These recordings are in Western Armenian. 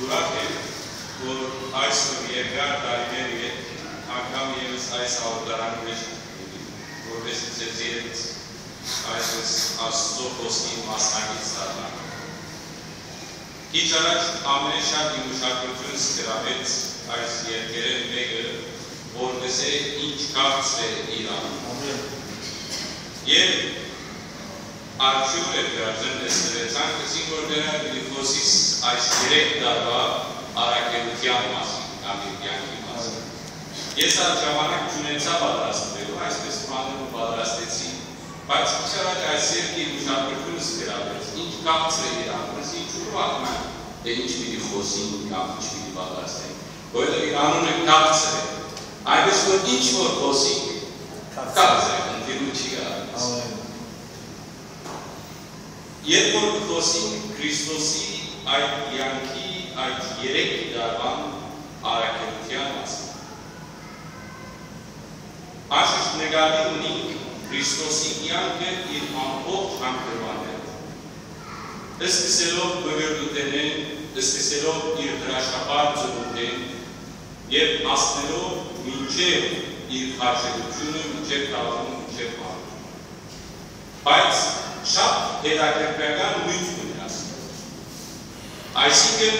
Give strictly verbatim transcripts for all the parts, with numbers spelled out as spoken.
Ուրախ եմ, որ այսօր երկար տարիներ ետք անգամ ևս այս հաղորդարանի մէջ կ'ընկնեմ, որպէս զի ձեզի հետ այսպես Աստուծոյ խօսքին մասնակից դառնամ։ Քիչ առաջ ամենէ շատ իմ ուշադրութիւնս գրաւեց այս երգերէն մէկը, որ կ'ըսէ, "Ինչ քաղցր է Իրան"։ Ամէն։ Եւ Արդիւնը, կարծեմ, տեսնուեցան, կսին որ դեռ պիտի խօսիս այս երեք տարուայ առաքելութեան մասին, կամ իր կեանքի մասին։ Ես ալ ժամանակ չունեցայ պատրաստուելու, այսպես բաները պատրաստեցի, բայց քիչ առաջ այս երգը իմ ուշադրութիւնս գրաւեց, "Ինչ քաղցր է Իրան", ես ինչ ուրախ եմ, թէ ինչ պիտի խօսին կամ ինչ պիտի պատրաստեն, որովհետեւ իր անունը քաղցր է, այնպես որ ինչ որ խօսի, քաղցր է, խնդիրում չի գալիս։ Ամէն։ Երբ որ կը խօսինք Քրիստոսի այդ կեանքի, այդ երեք տարուան առաքելութեան մասին, անշուշտ նկատի ունինք Քրիստոսի կեանքը իր ամբողջ հանգրուաններով, սկսելով մկրտութենէն, սկսելով իր հրաշափառ ծնունդէն եւ հասնելով մինչեւ իր խաչելութիւնը, մինչեւ թաղումը, մինչեւ մահը։ Բայց շատ հետաքրքրական նիւթ կունի ասիկա։ Այսինքն,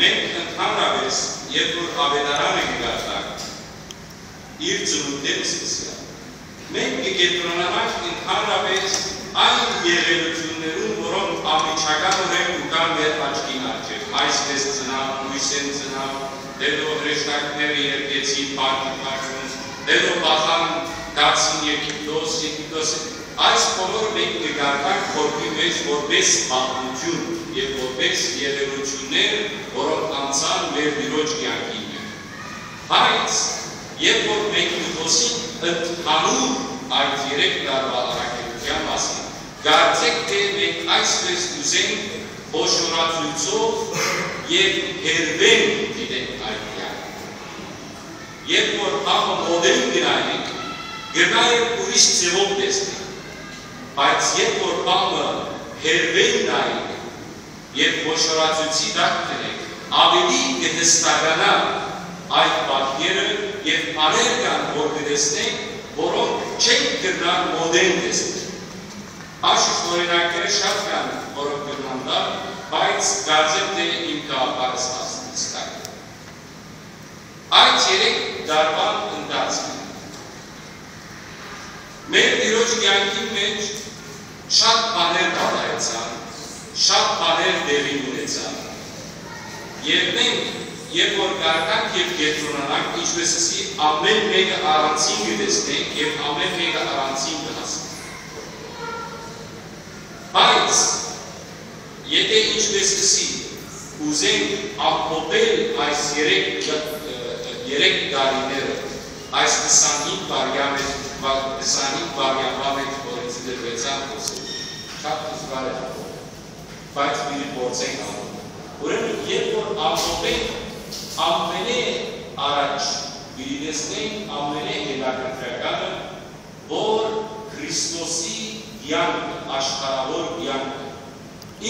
մենք ընդհանրապէս, երբ որ Աւետարանը կը կարդանք, իր ծնունդէն սկսեալ, մենք կը կեդրոնանանք ընդհանրապէս այն եղելութիւններուն, որոնք անմիջականօրէն կու գան մեր աչքին առջեւ։ Այսպես ծնաւ, լոյսէն ծնաւ, հետո հրեշտակները երգեցին, փառք Աստուծոյ, հետո փախան, գացին Եգիպտոս, Եգիպտոս։ Այս բոլորը մենք կը կարդանք խորհրդի մէջ որպէս պատմութիւն եւ որպէս եղելութիւններ, որոնք անցան մեր Տիրոջ կեանքին մէջ։ Բայց երբ որ մենք կը խօսինք ընդհանուր այդ երեք տարուայ առաքելութեան մասին, կարծէք թէ մենք այսպես կ'ուզենք խոշորացոյցով եւ հերբեն դիտենք այդ կեանքը։ Երբ որ բանը մօտէն կը նայենք, կրնայ ուրիշ ձեւով տեսնենք, բայց երբ որ բանը հերբէն նայենք, երբ խոշորացոյցի տակ դնենք, աւելի կը հստականայ այդ պատկերը եւ բաներ կան, որ կը տեսնենք, որոնք չենք կրնար մօտէն տեսնել։ Անշուշտ օրինակները շատ կան, որոնք կրնան տալ, բայց կարծեմ թէ իմ գաղափարս հասնեց տակ։ Այդ երեք տարուան ընթացքին մեր Տիրոջ կեանքին մէջ շատ բաներ պատահեցան, շատ բաներ տեղի ունեցան։ Եւ մենք, երբ որ կարդանք եւ կեդրոնանանք, ինչպես ասի, ամէն մէկը առանձին կը տեսնենք եւ ամէն մէկը առանձին կը հասկնանք։ Բայց, եթէ ինչպես կսի, ուզենք ամփոփել այս երեք, երեք տարիները, այս քսանհինգ վարյա մէջ, վա-, քսանհինգ վարյա մէջ, որ ինձ դրուեցան խօսել, շատ դժուար է ըլլալ, բայց պիտի փորձենք ալ։ Ուրեմն, երբ որ ամփոփենք, ամենէ առաջ պիտի տեսնենք ամենէ հետաքրքրականը, որ Քրիստոսի կեանքը, աշխարհաւոր կեանքը,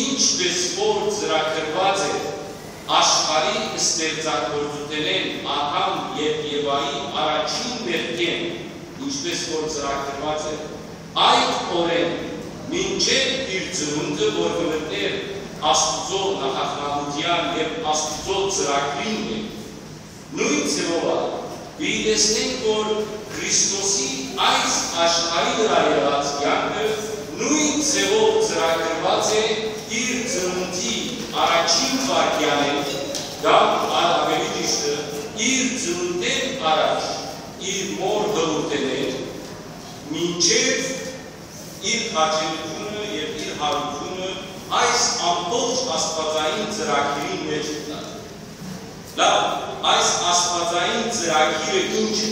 ինչպես որ ծրագրուած է աշխարհի ստեղծագործութենէն Ադամ եւ Եվայի առաջին մեղքէն, ինչպես որ ծրագրուած է այդ օրէն մինչեւ իր ծնունդը, որ կը մտնէր Աստուծոյ նախախնամութեան եւ Աստուծոյ ծրագրին մէջ, նոյն ձեւով ալ պիտի տեսնենք, որ Քրիստոսի այս աշխարհի վրայ եղած կեանքը նոյն ձեւով ծրագրուած է իր ծնունդի առաջին վայրկեանէն, կամ ալ աւելի ճիշդը, իր ծնունդէն առաջ, իր մօր հղութենէն, մինչեւ իր խաչելութիւնը եւ իր յարութիւնը այս ամբողջ աստուածային ծրագիրին մէջ մտած է։ Լավ, այս աստուածային ծրագիրը ի՞նչ է։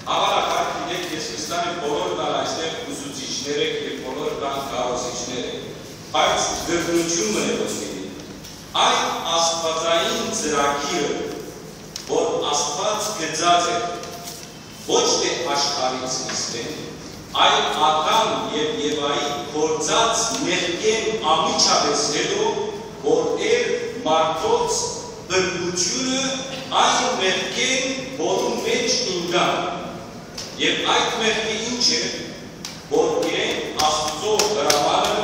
Հաւանաբար գիտէք, ես վստահ եմ, բոլոր կան այստեղ ուսուցիչներ եք եւ բոլոր կան քարոզիչներ եք, բայց գրնություն մը է ոսկին։ Այդ աստուածային ծրագիրը, որ Աստուած գծած է, ոչ թէ աշխարհի սկիզբէն, այլ Ադամ եւ Եվայի գործած մեղքէն անմիջապէս հետո, որ էր մարդոց բրբութիւնը այն մեղքէն, որուն մէջ ինկան։ Եւ այդ մեղքը ի՞նչ է, որ իրենք Աստուծոյ հրամանը,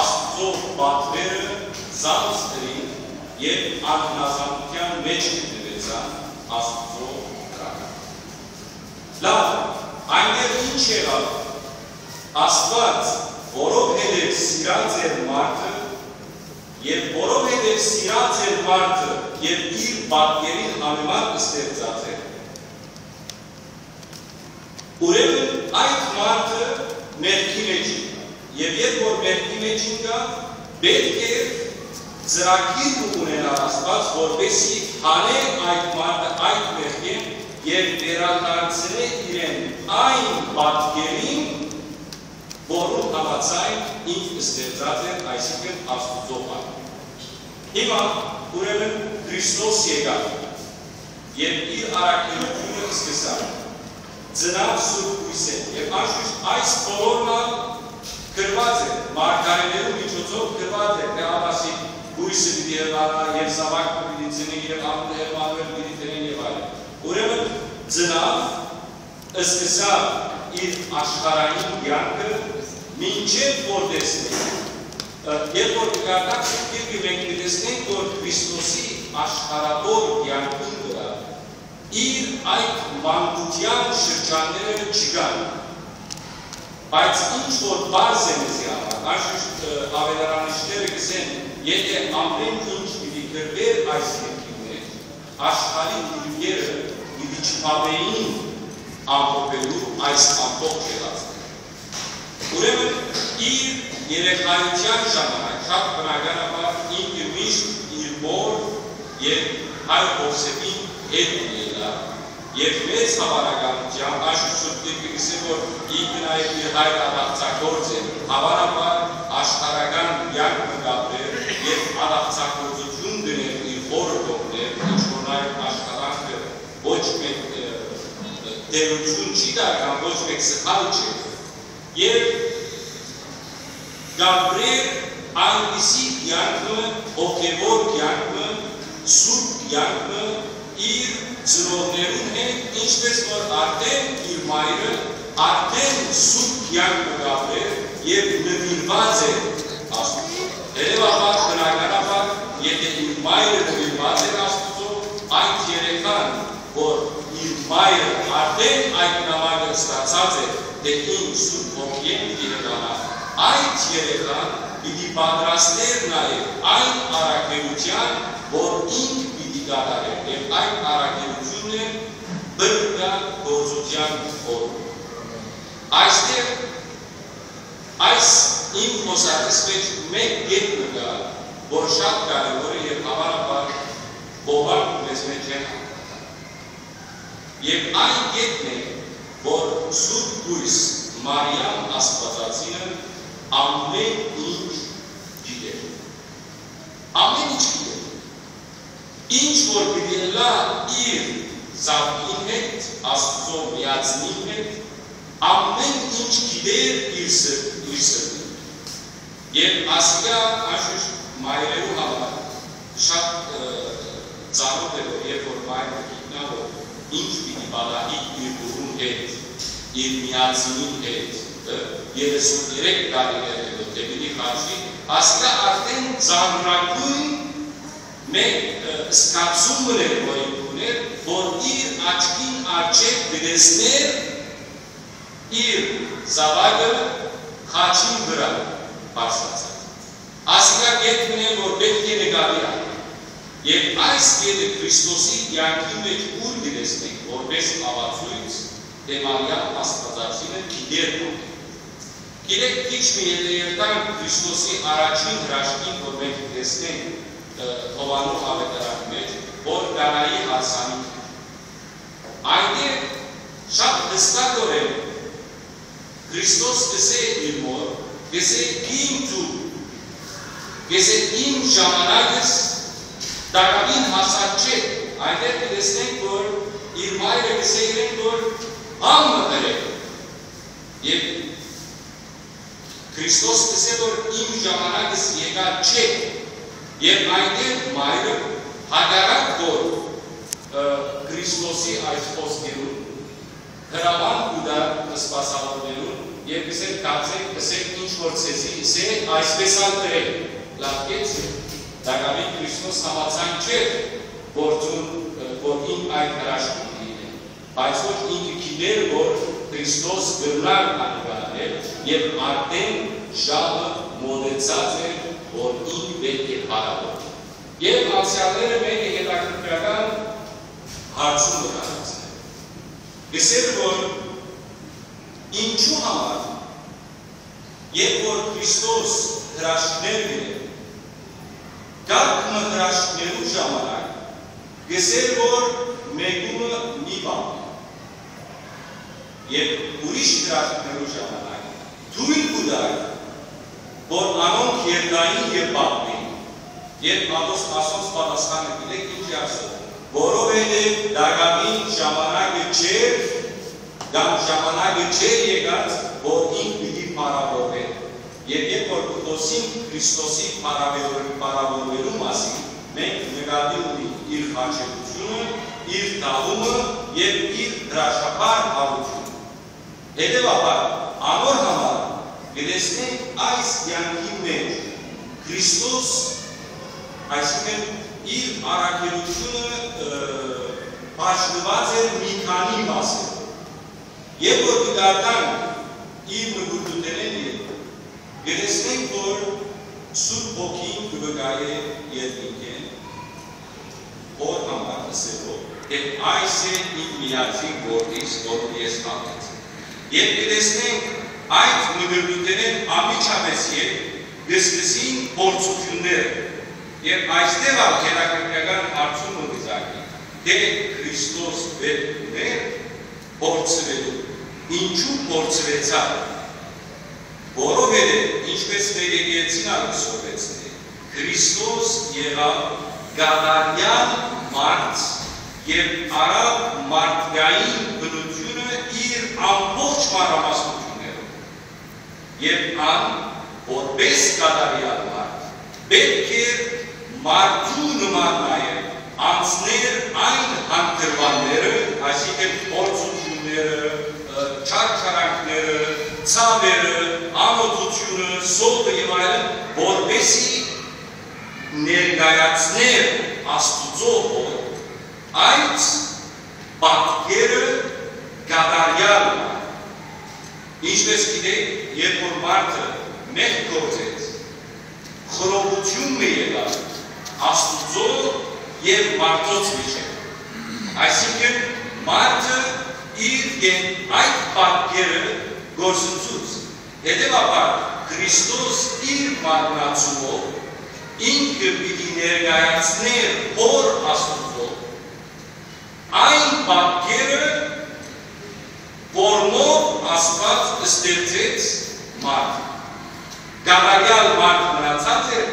Աստուծոյ պատուերը զանց ըրին եւ անհնազանդութեան մէջ գտնուեցան Աստուծոյ հրամանը։ Լաւ, այնտեղ ի՞նչ եղաւ։ Աստուած, որովհետեւ սիրած էր մարդը, եւ որովհետեւ սիրած էր մարդը եւ իր պատկերին համեմատ ստեղծած էր, ուրեմն այդ մարդը մեղքի մէջ ինկայ։ Եւ երբ որ մեղքի մէջ ինկայ, պէտք է ծրագիր մը ունենար Աստուած, որպեսզի հանէ այդ մարդը այդ մեղքէն եւ վերադարձնէ իրեն այն պատկերին, որուն համաձայն ինք ստեղծած էր, այսինքն՝ Աստուծոյ պատկերին։ Հիմա, ուրեմն, Քրիստոս եկաւ եւ իր առաքելութիւնը սկսաւ, ծնաւ Սուրբ Կոյսէն, եւ անշուշտ այս բոլորն ալ գրուած է, մարգարէներու միջոցով գրուած է, թէ ատասի կոյսը պիտի ըլլայ եւ զաւակ մը պիտի ծնի եւ անունը Էմմանուէլ պիտի դնեն եւ այլն։ Ուրեմն, ծնաւ, սկսաւ իր աշխարհային կեանքը, մինչեւ որ տեսնենք, ը, երբ որ կկարդանք Սուրբ Գիրքը, մենք կը տեսնենք, որ Քրիստոսի աշխարհաւոր կեանքին վրայ իր այդ մանկութեան շրջանները չկան, բայց ինչ որ պարզ է մեզի համար, անշուշտ, ը, աւետարանիչները կ'ըսեն, եթէ ամէն ինչ պիտի գրուէր այս գիրքին մէջ, աշխարհի դիրքերը պիտի չփապէին ամփոփելու այս ամբողջ եղածը։ Ուրեմն, իր երեխայութեան ժամանակ շատ բնականաբար ինքը միշտ իր մօր եւ հայր Յովսէփին հետ ելլայ, եւ մեծ հաւանականութեամբ, այս Սուրբ Գիրքը կ'ըսէ, որ ինքը նաեւ իր հայրը ատաղձագործ էր, հաւանաբար աշխարհական կեանք մը կ'ապրէր եւ ատաղձագործութիւն կ'ընէր իր հօրը կողմէ, ինչ որ նաեւ աշխատանքը ոչ մէկ, ը, դերութիւն չի տար կամ ոչ մէկ սխալ չէ։ Եւ կ'ապրէր այնպիսի կեանք մը, հոգեւոր կեանք մը, սուրբ կեանք մը իր ծնողներուն հետ, ինչպէս որ արդէն իր մայրը արդէն սուրբ կեանք մը կ'ապրէր եւ նուիրուած էր Աստուծոյ։ Հետեւաբար, բնականաբար, եթէ իր մայրը նուիրուած էր Աստուծոյ, այդ երեխան, որ իր մայրը արդէն այդ նամակը ստացած էր, թէ ինք Սուրբ Հոգիէն պիտի հեռանայ, այդ երեխան պիտի պատրաստէր նաեւ այն առաքելութեան, որ ինք պիտի կատարէր, եւ այդ առաքելութիւնն էր բռնկա գործութեան օրը։ Այստեղ այս իմ խօսակիս մէջ մէկ կետ մը կայ, որ շատ կարեւոր է եւ հաւանաբար բոլոր մեզմէ չեն յարմարացեր։ Եւ այն կետն է, որ Սուրբ Կոյս Մարիամ Աստուածածինը ամէն ինչ գիտէր։ Ամէն ինչ գիտէր։ Ինչ որ պիտի ըլլայ իր զաւկին հետ, Աստուծոյ միածինին հետ, ամէն ինչ գիտէր իր սրտ-, իր սրտին։ Եւ ասիկա, անշուշտ, մայրերու համար շատ, ը, ծանօթ է, որ երբ որ մայրը գիտնայ, որ ինչ պիտի պատահի իր դուռուն հետ, իր միածինին հետ, ը, երեսուններեք տարիներ հետո, թէ պիտի խաչի, ասիկա արդէն ծանրագոյն մէկ, ը, զգացում մը էր, որ ինք ունէր, որ իր աչքին առջեւ կը տեսնէր իր զաւակը խաչին վրայ բարձրացած։ Ասիկա կետ մը է, որ պէտք է նկատի առնենք։ Եւ այս կետը Քրիստոսի կեանքին մէջ ուր կը տեսնենք, որպէս ապացոյց, թէ Մարիամ Աստուածածինը գիտէր, որ գիտեք, քիչ մը յետոյ երթանք Քրիստոսի առաջին հրաշքին, որ մենք տեսնենք, ը, Յովհաննու աւետարանի մէջ, որ Կանայի հարսանիքը։ Այնտեղ շատ յստակօրէն Քրիստոս կ'ըսէ իր մօր, կ'ըսէ, «Իմ դու», կ'ըսէ, «Իմ ժամանակս տակաւին հասած չէ»։ Այնտեղ կը տեսնենք, որ իր մայրը կ'ըսէ իրեն, որ «Հան մը ըրէ»։ Եւ Քրիստոս կ'ըսէ, որ «Իմ ժամանակս եկած չէ»։ Եւ այնտեղ մայրը, հակառակ որ, ը, Քրիստոսի այս խոսքերուն, հրաման կու տայ սպասաւորներուն եւ կ'ըսէ. «Գացէք, ըսէք ինչ որ ձեզի ըսէ, այսպէս ալ ըրէք»։ Լաւ կեցցէ, տակաւին Քրիստոս համաձայն չէ, որ դուն, որ ինք այդ հրաշքը կը դինէ, բայց որ ինքը գիտէր, որ Քրիստոս կրնար անիկա անել եւ արդէն ժամը մօտեցած էր, որ ինք պէտք է փառաւոր։ Եւ անցեալները մէկը հետաքրքրական հարցումը կ'առաջնայ։ Կ'ըսէր, որ ինչու համար, երբ որ Քրիստոս հրաշքներ կ'ընէր, կարգ մը հրաշքներու ժամանակ կ'ըսէր, որ մեկումը մի բան, եւ ուրիշ հրաշքներու ժամանակ թոյլ կու տայ, որ անոնք երթային եւ պատմին։ Երբ ատոս-, ասոնց պատասխանը գիտէք ինչ է ասել, որովհետեւ տակաւին ժամանակը չէր, կամ ժամանակը չէր եկած, որ ինք պիտի փառաւորուէր։ Եւ երբ որ կը խօսինք Քրիստոսի փառաւոր-, փառաւորուելու մասին, մենք նկատի ունենք իր խաչելությունը, իր թաղումը եւ իր հրաշափառ յարութիւնը։ Հետեւաբար, անոր համար կը տեսնենք այս կեանքին մէջ Քրիստոս, այսինքն իր առաքելութիւնը, ը, բաժնուած էր մի քանի մասերու։ Երբ որ կը կարդանք իր մկրտութենէն ետք, կը տեսնենք, որ Սուրբ Հոգին կը վկայէ երկնքէն, Հօր համար ըսելով, թէ այս է իմ միածին որդիս, որուն ես հաւատացի։ Եւ կը տեսնենք, այդ մկրտութենէն անմիջապէս ետք կը սկսին փորձութիւնները։ Եւ այստեղ ալ հետաքրքրական հարցումը կը ծագի, թէ Քրիստոս պէտք ունէ փորձուելու։ Ինչու փորձուեցաւ։ Որովհետեւ, ինչպէս մեկեգերցին ալ կը սորվեցնէ, Քրիստոս եղաւ կատարեալ մարդ եւ առաւ մարդկային բնութիւնը իր ամբողջ մանրամասնութիւններով։ Եւ ան, որպէս կատարեալ մարդ, պէտք էր մարդու նման նաեւ անցներ այն հանգրուանները, այսինքն փորձութիւնները, ը, չարչարանքները, ցաւերը, անօթութիւնը, սովը եւ այլն, որպէսզի ներկայացներ Աստուծոյ Հօր, այդ պատկերը կատարեալ մը։ Ինչպէս գիտէք, երբ որ մարդը մեղք գործեց, խռովութիւն մը եղաւ Աստուծոյ եւ մարդոց միջեւ։ Այսինքն, մարդը իր կեն-, այդ պատկերը գործընծուց։ Հետեւաբար, Քրիստոս իր մարմնացումով ինքը պիտի ներկայացնէր Հօր Աստուծոյ, այն պատկերը, որմով Աստուած ստեղծեց մարդը։ Կատարեալ մարդ մնացած էր,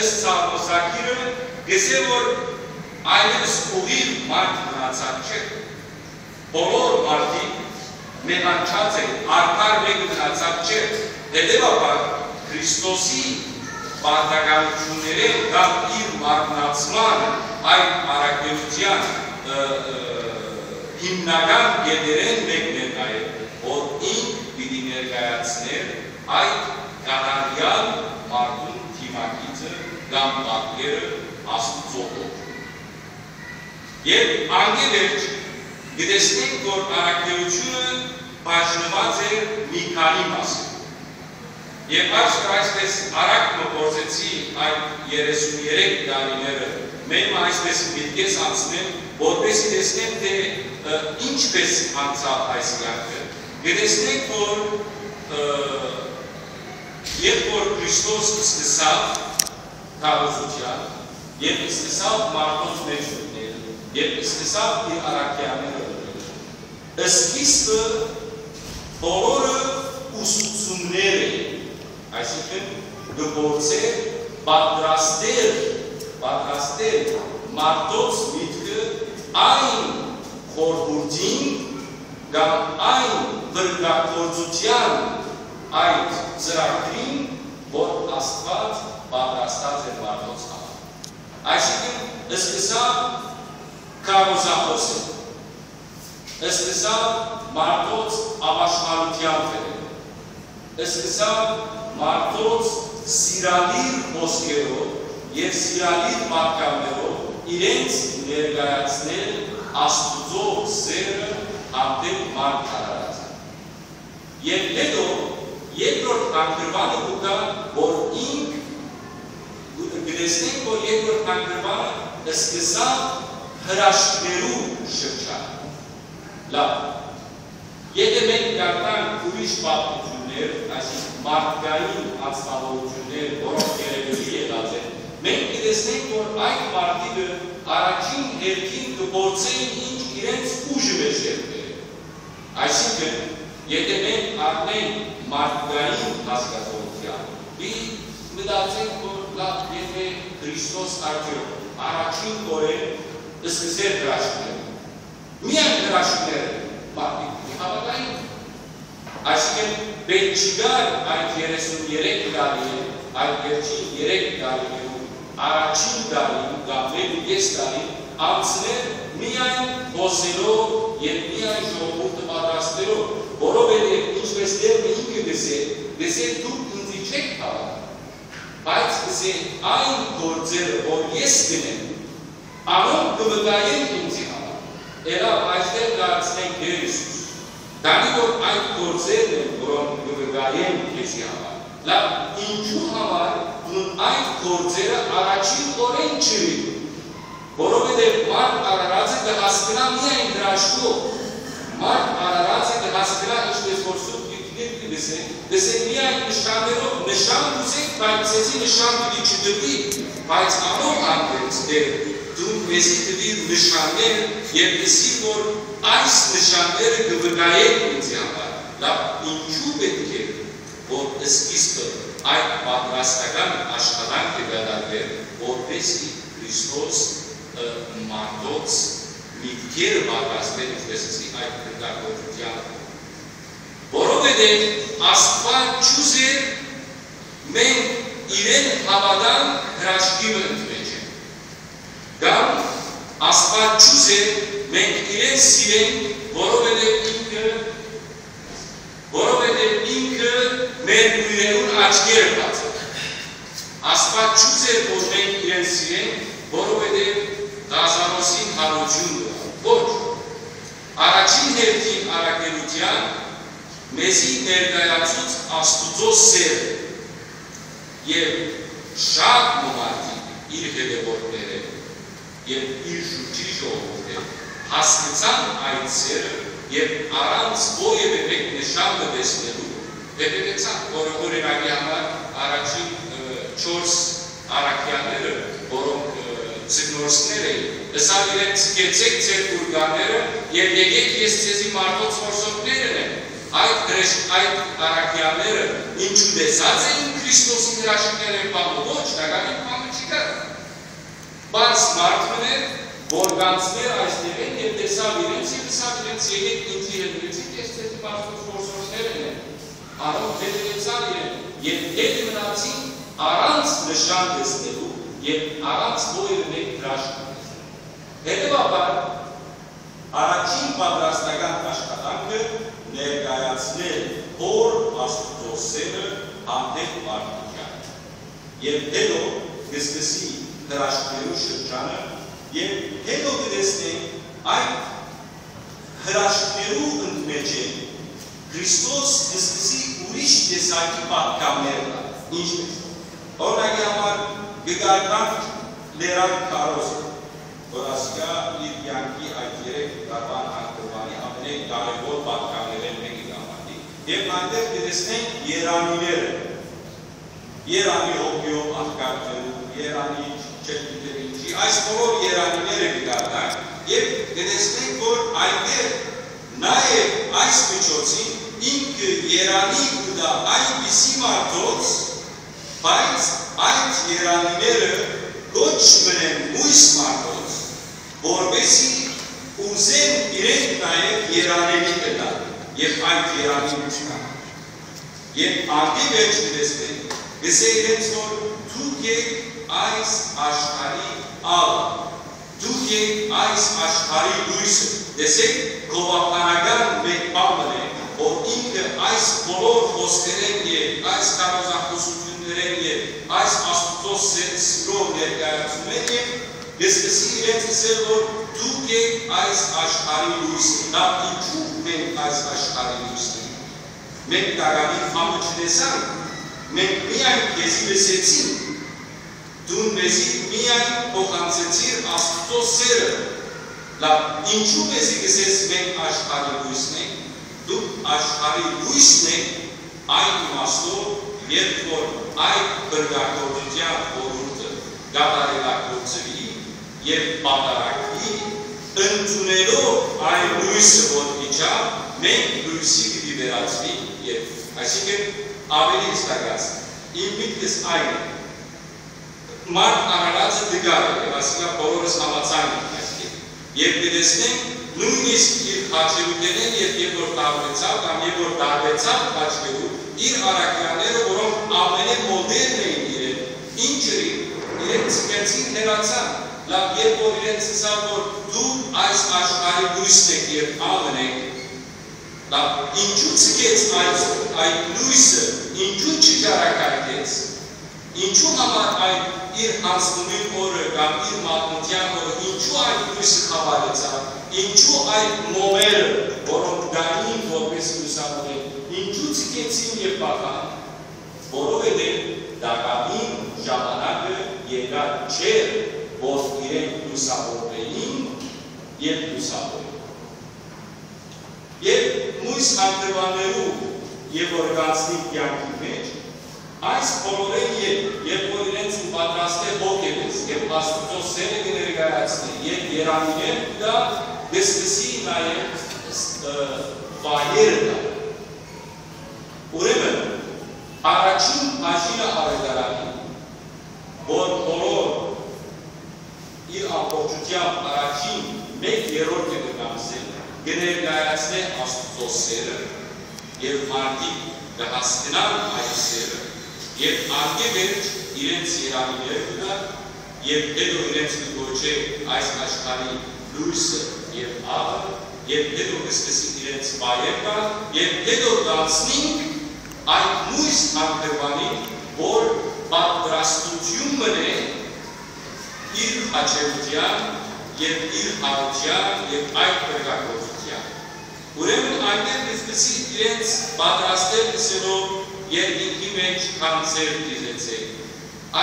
ըստ Սաղմոսագիրը կ'ըսէ, որ այլեւս ուղիղ մարդ մնացած չէ։ Բոլոր մարդիկ մեղանչած են, արդար մէկը մնացած չէ։ Հետեւաբար, Քրիստոսի պարտականութիւններէն կամ իր մարմնացման այդ առաքելութեան, ը, ը, հիմնական կետերէն մէկն է նաեւ, որ ինք պիտի ներկայացնէր այդ կատարեալ մարդուն դիմագիծը կամ պատկերը Աստուծոյ Հօր։ Եւ անկէ վերջ կը տեսնենք, որ առաքելութիւնը բաժնուած է մի քանի մասի։ Եւ այսօր այսպես արագ մը փորձեցի այդ երեսուն երեք տարիները մէկ մը այսպես միտքէս անցնել, որպեսզի տեսնեմ, թէ, ը, ինչպես անցաւ այս կեանքը։ Կը տեսնենք, որ, ը, երբ որ Քրիստոս սկսաւ քարոզութեան, եւ սկսաւ մարդոց մէջ մտնել, եւ սկսաւ իր առաքեալները ընել։ Սկիզբը բոլորը ուսուցումներ էին, այսինքն՝ կը փորձէր պատրաստել, պատրաստել մարդոց միտքը այն խորհուրդին կամ այն վրգագործութեան, այդ ծրագրին, որ Աստուած պատրաստած էր մարդոց համար։ Այսինքն, սկսաւ քարոզախօսը, սկսաւ մարդոց աւաշխարութեան դերերը, սկսաւ մարդոց սիրալիր խօսքերով եւ սիրալիր պատգամներով իրենց ներկայացնել Աստուծոյ սէրը հանդէպ մարդ արարածը։ Եւ յետոյ երկրորդ հանգրուանը կու գայ, որ ինք, կը տեսնենք, որ երկրորդ հանգրուանը սկսաւ հրաշքներու շրջանը։ Լավ, եթէ մենք կարդանք ուրիշ պատմութիւններ, այսինքն մարդկային անձնաւորութիւններ, որոնք երեւելի եղած են, մենք կը տեսնենք, որ այդ մարդիկը առաջին հերթին կը փորձեն ինչ իրենց ուժը մէջտեղ բերել։ Այսինքն, եթէ մենք առնենք մարդկային հասկացողութեան, պիտի մտածենք, որ լավ, եթէ Քրիստոս արդեօք առաջին օրէն սկսեր հրաշքները, միայն հրաշքները մարդիկ պիտի հաւատային։ Այսինքն, պէտք չկար այդ երեսուն երեք տարի, այդ վերջին երեք տարիներու առաջին տարին կամ մէկ ու կէս տարին անցնել միայն խօսելով եւ միայն ժողովուրդը պատրաստելով, որովհետեւ ինչպես Տէրը ինքը կ'ըսէ, կ'ըսէ, դուք ինծի չէք հաւատար, բայց կ'ըսէ, այն գործերը, որ ես կ'ընեմ, անոնք կը վկայեն ինծի համար։ Ելաւ, այստեղ կ'արցնենք Տէր Յիսուս, քանի որ այդ գործերն են, որոնք կը վկայեն քեզի համար։ Լավ, ինչու համար դուն այդ գործերը առաջին օրէն չըրիր, որովհետեւ մարդ արարածը կը հասկնայ միայն հրաշքով։ Մարդ արարածը կը հասկնայ, ինչպես որ Սուրբ Գիրքին կը գսեն, գսեն միայն նշաններով, նշան կ'ուզէք, բայց ձեզի նշան պիտի չտրուի, բայց անոր հանդերձ դեռ դուն մեզի տուիր նշաններ եւ ըսիր, որ այս նշանները կը վկայեն ինձի համար։ Լավ, ինչու պէտք է, որ սկիզբը այդ պատրաստական աշխատանքը կատարվեր, որպեսզի Քրիստոս, ը, մարդոց միտքերը պատրաստեն, ինչպես ասի, այդ փրկագործութեան։ Որովհետեւ Աստուած չուզեր մենք իրեն հաւատանք հրաշքի մը ընդմէջը, կամ Աստուած չուզեր մենք իրեն սիրենք, որովհետեւ ինքը, որովհետեւ ինքը մեր կոյրերուն աչքերը բաց է։ Աստուած չուզեր որ մենք իրեն սիրենք, որովհետեւ Ղազարոսին յարութիւն կ'ըլլայ։ Ոչ։ Առաջին հերթին առաքելութեան մեզի ներկայացուց Աստուծոյ սէրը, եւ շատ մը մարդիկ իր հետեւորդները եւ իր շուրջի ժողովուրդը հասկցան այդ սէրը եւ առանց որեւէ մէկ նշան մը տեսնելու, հետեւեցան, որ օրինակի համար առաջին, ը, չորս առաքեալները, որոնք, ը, ձկնորսներ էին, ըսաւ իրենց. «Գցէք ձեր պուրկանները եւ եկէք, ես ձեզի մարդոց որսորդներ ընեմ»։ Այդ հրեշ-, այդ առաքեալները ինչու տեսած էին Քրիստոսի հրաշքները, բանը ոչ, տակաւին բանը չկար։ Բայց մարդ մը էր, որ գանձներ այս տեղեն եւ տեսաւ իրենց եւ ըսաւ իրենց. «Եկէք ինծի հետ, եկեցիք, ես ձեզի մարդոց որսորդներ ընեմ»։ Անոնք հետեւեցան իրեն եւ հետ մնացին առանց նշան տեսնելու եւ առանց որեւէ մէկ հրաշք տեսնելու։ Հետեւաբար, առաջին պատրաստական աշխատանքը ներկայացնել Հօր Աստուծոյ սէրը հանդէպ մարդկութեան։ Եւ յետոյ կը սկսի հրաշքներու շրջանը, եւ յետոյ կը տեսնենք այդ հրաշքներու ընդմէջէն Քրիստոս կը սկսի ուրիշ տեսակի պատգամներ տալ, ինչպես, օրինակի համար, կը կարդանք Լերան քարոզը, որ ասիկա իր կեանքի այդ երեք տարուան հանգրուանի ամենէն կարեւոր պատգամներէն մէկը կը համարուի, եւ այնտեղ կը տեսնենք երանիները, երանի հոգիով աղքատներու, երանի չեմ գիտեր ինչի, այս բոլոր երանիները կը կարդանք եւ կը տեսնենք, որ այնտեղ նաեւ այս միջոցին ինքը երանի կու տայ այնպիսի մարդոց, բայց այդ երանիները կոչ մնեն մոյս մարդոց, որպեսզի ուզեն իրենք նաեւ երանելի ըլլալ եւ այդ երանին չնան։ Եւ անդի վերջ կը տեսնենք, կ'ըսէ իրենց, որ դուք եք այս աշխարհի ալ։ Դուք էք այս աշխարհի լոյսը։ Տեսեք, գովաբանական մէկ բան մըն է, որ ինքը այս բոլոր խօսքերէն եւ այս քարոզախօսութիւններէն եւ այս Աստուծոյ սէ-, սիրով ներկայացումէն եւ կը սկսի իրենց ըսել, որ դուք էք այս աշխարհի լոյսը։ Լաւ, ինչու մենք այս աշխարհի լոյսն ենք։ Մենք տակաւին խամը չտեսանք, մենք միայն քեզի լսեցինք։ Դուն մեզի միայն փոխանցեցիր Աստուծոյ սէրը։ Լաւ, ինչու մեզի կ'ըսես մենք աշխարհի լոյսն ենք։ Դուք աշխարհի լոյսն եք այն իմաստով, երբ որ այդ փրկագործութեան խորհուրդը կատարելագործուի եւ պատարագուի, ընդունելով այն լոյսը, որ իջաւ, մենք լոյսի պիտի վերածուինք եւ, այսինքն, աւելի հստակած, իմ միտքս այն է, մարդ արարածը տկար է, եւ ասիկա բոլորս համաձայն ենք այսքան։ Եւ կը տեսնենք նոյնիսկ իր խաչերութենէն, եւ երբ որ տարուեցաւ կամ երբ որ տարուեցաւ խաչերու, իր առաքեալները, որոնք ամենէն մօտերն էին իրեն, ինչ ըրին, իրենք ձգեցին, հեռացան։ Լաւ, երբ որ իրենց ըսաւ, որ դու այս աշխարհի լոյսն եք եւ աղն եք, լաւ, ինչու ձգեց այդ, այդ լոյսը, ինչու չճարակայթեց, ինչու համար այդ իր յանձնումին օրը կամ իր մատնութեան օրը, ինչու այդ լոյսը խաւարեցաւ, ինչու այդ մոմերը, որոնք կային որպես լուսավորել, ինչու ձգեցին եւ փախան, որովհետեւ տակաւին ժամանակը եկած չէր, որ իրենք լուսավորվէին եւ լուսավորեն։ Եւ մոյս հանգրուաններու եւ որ գանցնի կեանքի մէջ, այս բոլորէն ետք, երբ որ իրենց պատրաստէ հոգեվէս եւ Աստուծոյ սէրը կը ներկայացնէ եւ երամիներ կը տայ, կը սկսի նաեւ, ը, վայեր տայ։ Ուրեմն, առաջին բաժինը աւետարանին, որ բոլոր իր ամբողջութեամբ առաջին մէկ երրորդը կը գանձէ, կը ներկայացնէ Աստուծոյ սէրը, եւ մարդիկ կը հասկնան այդ սէրը, եւ անկէ վերջ իրենց երամիները կը տայ, եւ հետո իրենց կը կոչէ այս աշխարհի լոյսը եւ աղը, եւ հետո կը սկսի իրենց վայել տալ, եւ հետո կ'անցնինք այդ մոյս հանգրուանին, որ պատրաստութիւն մըն է իր խաչերութեան եւ իր յարութեան եւ այդ փրկագործութեան։ Ուրեմն անկէ կը սկսի իրենց պատրաստել ըսելով երկինքի մէջ գանձեր դիզեցեք,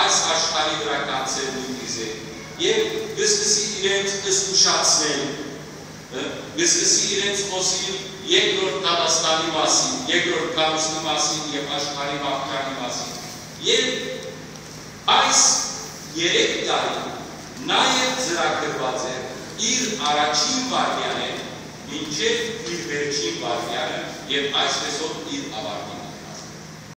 այս աշխարհի վրայ գանձեր նոյնիսկ, եւ կը սկսի իրենց զգուշացնել, ը, կը սկսի իրենց խօսիլ երկրորդ դատաստանի մասին, երկրորդ քարոզի մասին եւ աշխարհի վախճանի մասին։ Եւ այս երեք տարի նաեւ ծրագրուած էր իր առաջին վայրկեանէն մինչեւ իր վերջին վայրկեանը եւ այսպեսով իր աւարտին։